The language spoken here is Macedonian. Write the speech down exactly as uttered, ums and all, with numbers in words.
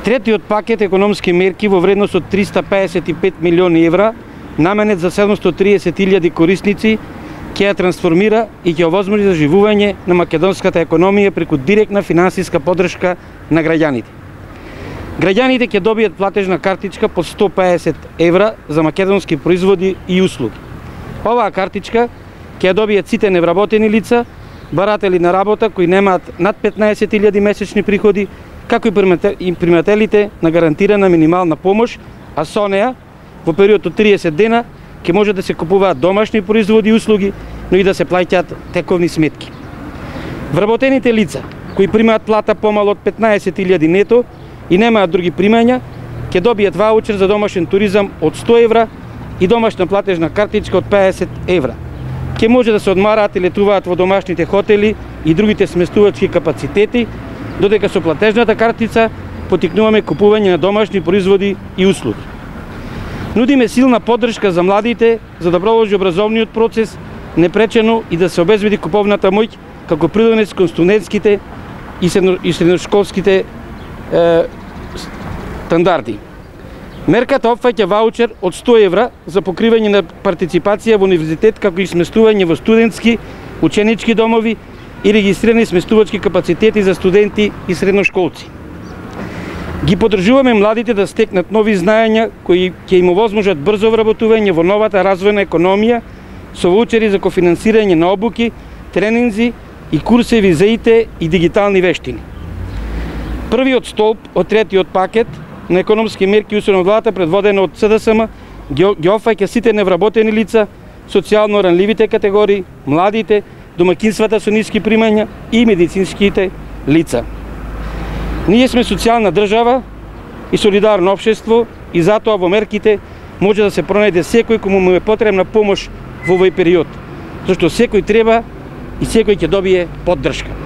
Третиот пакет економски мерки во вредност од триста педесет и пет милиони евра, наменет за седумстотини и триесет илјади корисници, ќе ја трансформира и ќе овозможи заживување на македонската економија преку директна финансиска поддршка на граѓаните. Граѓаните ќе добијат платежна картичка по сто педесет евра за македонски производи и услуги. Оваа картичка ќе ја добијат сите невработени лица, баратели на работа кои немаат над петнаесет илјади месечни приходи, како и примателите на гарантирана минимална помош, а со неа во период од триесет дена ќе може да се купуваат домашни производи и услуги, но и да се плаќаат тековни сметки. Вработените лица кои примаат плата помало од петнаесет илјади нето и немаат други примања, ќе добијат ваучер за домашен туризам од сто евра и домашна платежна картичка од педесет евра. Ќе може да се одмараат и летуваат во домашните хотели и другите сместувачки капацитети, додека со платежната картица потикнуваме купување на домашни производи и услуги. Нудиме силна поддршка за младите за да продолжи образовниот процес непречено и да се обезбеди куповната моќ како придонес кон студентските и средношколските е, стандарди. Мерката опфаќа ваучер од сто евра за покривање на партиципација во универзитет, како и сместување во студентски, ученички домови и регистрирани сместувачки капацитети за студенти и средношколци. Ги поддржуваме младите да стекнат нови знаења кои ќе им овозможат брзо вработување во новата развојна економија со ваучери за кофинансирање на обуки, тренинзи и курсеви за И Т и дигитални вештини. Првиот столб од третиот пакет на економски мерки усвоен од владата, предводена од С Д С М, ги опфаќа сите невработени лица, социјално ранливите категории, младите, домаќинствата со ниски примања и медицинските лица. Ние сме социјална држава и солидарно општество и затоа во мерките може да се пронајде секој кому му е потребна помош во овој период, зашто секој треба и секој ќе добие поддршка.